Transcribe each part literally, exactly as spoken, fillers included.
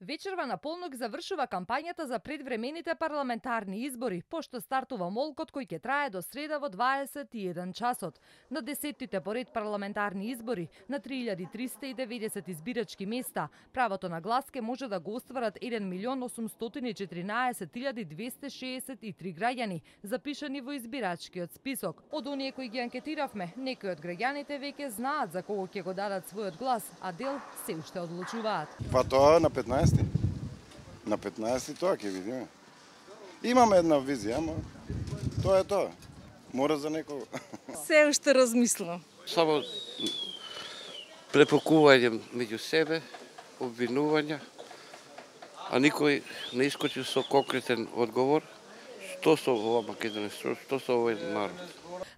Вечерва на полнок завршува кампањата за предвремените парламентарни избори, пошто стартува молкот кој ќе трае до среда во дваесет и еден часот. На десеттите поред парламентарни избори на три илјади триста и деветдесет избирачки места, правото на глас ке може да го остварат еден милион осумстотини и четиринаесет илјади двесте шеесет и три граѓани, запишани во избирачкиот список. Од оние кои ги анкетиравме, некои од граѓаните веќе знаат за кого ќе го дадат својот глас, а дел се уште одлучуваат. Па тоа на петнаесети. На петнаесети тоа ќе видиме. Имаме една визија, ама тоа е тоа. Мора за некого. Се уште размислувам. Само препокување меѓу себе, обвинувања, а никој не искочи со конкретен одговор. Што со ова Македонија, што со овој народ?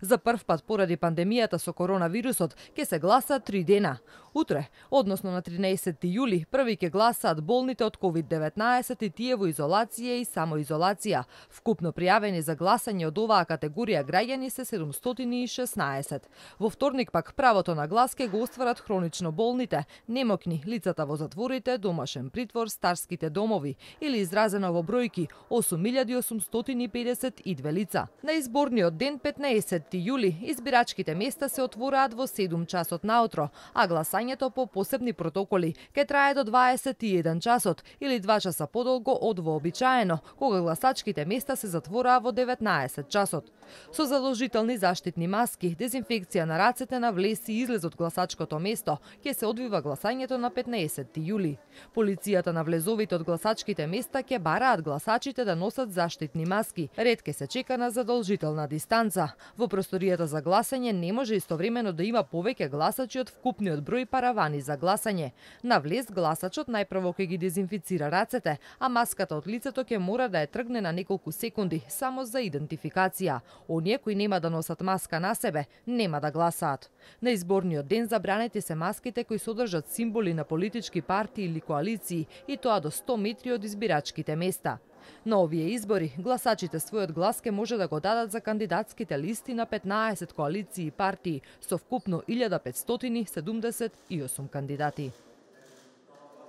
За прв пат поради пандемијата со коронавирусот ќе се гласа три дена. Утре, односно на тринаесетти јули, први ќе гласаат болните од ковид деветнаесет и тие во изолација и самоизолација. Вкупно пријавени за гласање од оваа категорија граѓани се седумстотини и шеснаесет. Во вторник пак правото на глас ќе го остварат хронично болните, немокни, лицата во затворите, домашен притвор, старските домови или изразено во бројки осум илјади осумстотини и педесет и две лица. На изборниот ден петнаесетти јули избирачките места се отвораат во седум часот наутро, а гласањето по посебни протоколи ќе трае до дваесет и еден часот или два часа подолго од вообичаено, кога гласачките места се затвораа во деветнаесет часот. Со задолжителни заштитни маски, дезинфекција на рацете на влез и излез од гласачкото место, ќе се одвива гласањето на петнаесетти јули. Полицијата на влезовите од гласачките места ќе бараат гласачите да носат заштитни маски. Ред ќе се чека на задолжителна дистанца. Во просторијата за гласање не може истовремено да има повеќе гласачи од вкупниот број паравани за гласање. На влез гласачот најпрво ќе ги дезинфицира рацете, а маската од лицето ќе мора да ја тргне на неколку секунди само за идентификација. Оние кои нема да носат маска на себе, нема да гласаат. На изборниот ден забранети се маските кои содржат символи на политички партии или коалиции, и тоа до сто метри од избирачките места. На овие избори, гласачите својот глас ке може да го дадат за кандидатските листи на петнаесет коалиции и партии со вкупно илјада петстотини седумдесет и осум кандидати.